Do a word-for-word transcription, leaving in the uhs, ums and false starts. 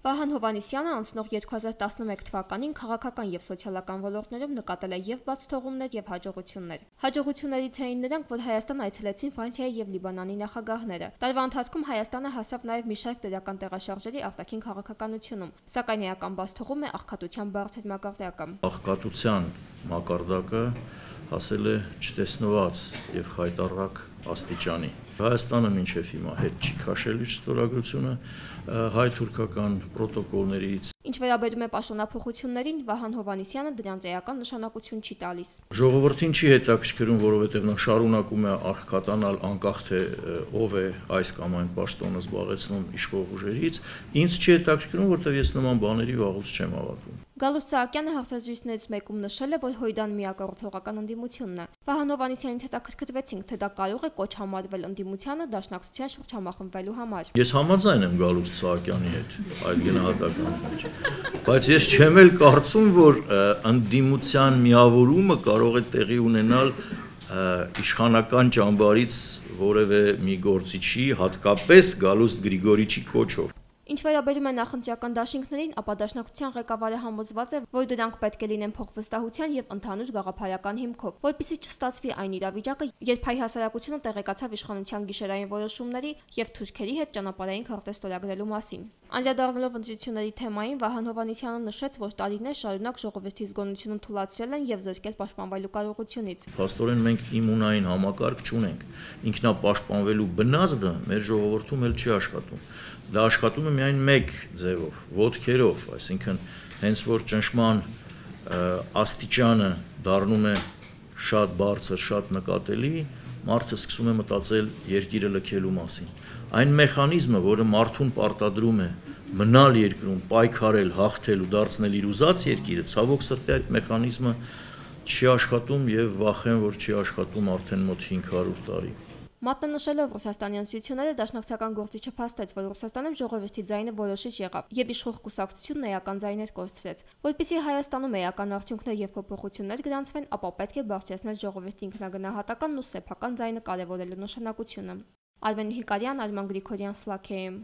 Վահան Հովհաննիսյանը անցնող երկու հազար տասնմեկ թվականին քաղաքական և սոցիալական ոլորտներում նկատել է և բաց թողումներ և հաջողություններ։ Հաջողություններից էին նրանք, որ Հայաստան այցելեցին Ֆրանսիայի և Լիբանանի նախագահները։ Տարվա ընթացքում Հայաստանը հասավ նաև մի շարք դրական տեղաշարժերի արտաքին քաղաքականությունում, սակայն էական բաց թողում է աղքատության բարձր մակարդակը։ Աղքատության մակարդակը հասել է չտեսնված և խայտառակ աստիճանի։ Հայաստանը մինչև հիմա հետ չի քաշել իր ստորագրությունը հայ-թուրքական պրոտոկոլներից։ Ինչ վերաբերում է պաշտոնափոխություններին, Վահան Հովհաննիսյանը դրանց էական նշանակություն չի տալիս։ Ժողովրդին չի հետաքրքրում, որովհետև նա շարունակում է աղքատանալ անկախ թե ով է այս կամ այն պաշտոնը զբաղեցնում իշխող ուժերից։ Ինձ չի հետաքրքրում, որտեղ ես նման բաների վաղուց չեմ հավատում։ Գալուստ Սահակյանը հարցազրույցներից մեկում նշել է, որ Հույդան միակառուցողական ընդդիմությունն է։ Վահան Հովհաննիսյանից հետաքրքրվեցինք, թե դա կարող է կոչ համարվել ընդդիմությանը դաշնակցության շուրջ համախմբվելու համար։ Ես համաձայն եմ Գալուստ Սահակյանի հետ այդ գնահատականների մեջ, բայց ես չեմ էլ կարծում, որ ընդդիմության միավորումը կարող է տեղի ունենալ իշխանական ճամբարից որևէ մի գործիչի, հատկապես Գալուստ Գրիգորիչի կոչով։ Ինչ վերաբերում է նախընտրական դաշինքներին, ապա դաշնակցության ղեկավարը համոզված է, որ դրանք պետք է լինեն փոխվստահության և ընդհանուր գաղափարական հիմքով, որպեսզի չստացվի այն իրավիճակը, երբ հայ հասարակությունը տեղեկացավ իշխանության գիշերային որոշումների և թուրքերի հետ ճանապարհային քարտեզ ստորագրելու մասին։ Անդրադառնալով ընտրությունների թեմային, Վահան Հովհաննիսյանը նշեց, որ տարիներ շարունակ ժողովրդի զգոնությունը թուլացրել են և զրկել պաշտպանվելու կարողությունից։ Փաստորեն մենք իմունային համակարգ չունենք։ Ինքնապաշտպանվելու բնազդը մեր ժողովրդում էլ չի աշխատում։ Դա աշխատում է միայն մեկ ձևով՝ ոտքերով, այսինքն հենց որ ճնշման աստիճանը դառնում է շատ բարձր, շատ նկատելի, մարդը սկսում է մտածել երկիրը լքելու մասին։ Այն մեխանիզմը, որը մարդուն պարտադրում է մնալ երկրում, պայքարել, հաղթել ու դարձնել իր ուզած երկիրը, ցավոք սրտի այդ մեխանիզմը չի աշխատում և վախեն, որ չի աշխատում արդեն մոտ հինգ հարյուր տարի։ Մատնանշելով Ռուսաստանի ընտրությունները, դաշնակցական գործիչը փաստեց, որ Ռուսաստանում ժողովրդի ձայնը որոշիչ եղավ և իշխող կուսակցությունն էական ձայներ կորցրեց։ Որպեսզի Հայաստանում էական արդյունքներ և փոփոխություններ գրանցվեն, ապա պետք է բարձրացնել ժողովրդի ինքնագնահատականն ու սեփական ձայնը կարևորելու նշանակությունը։ Արմեն Հիկարյան, Արման Գրիգորյան, Սլաքեյում։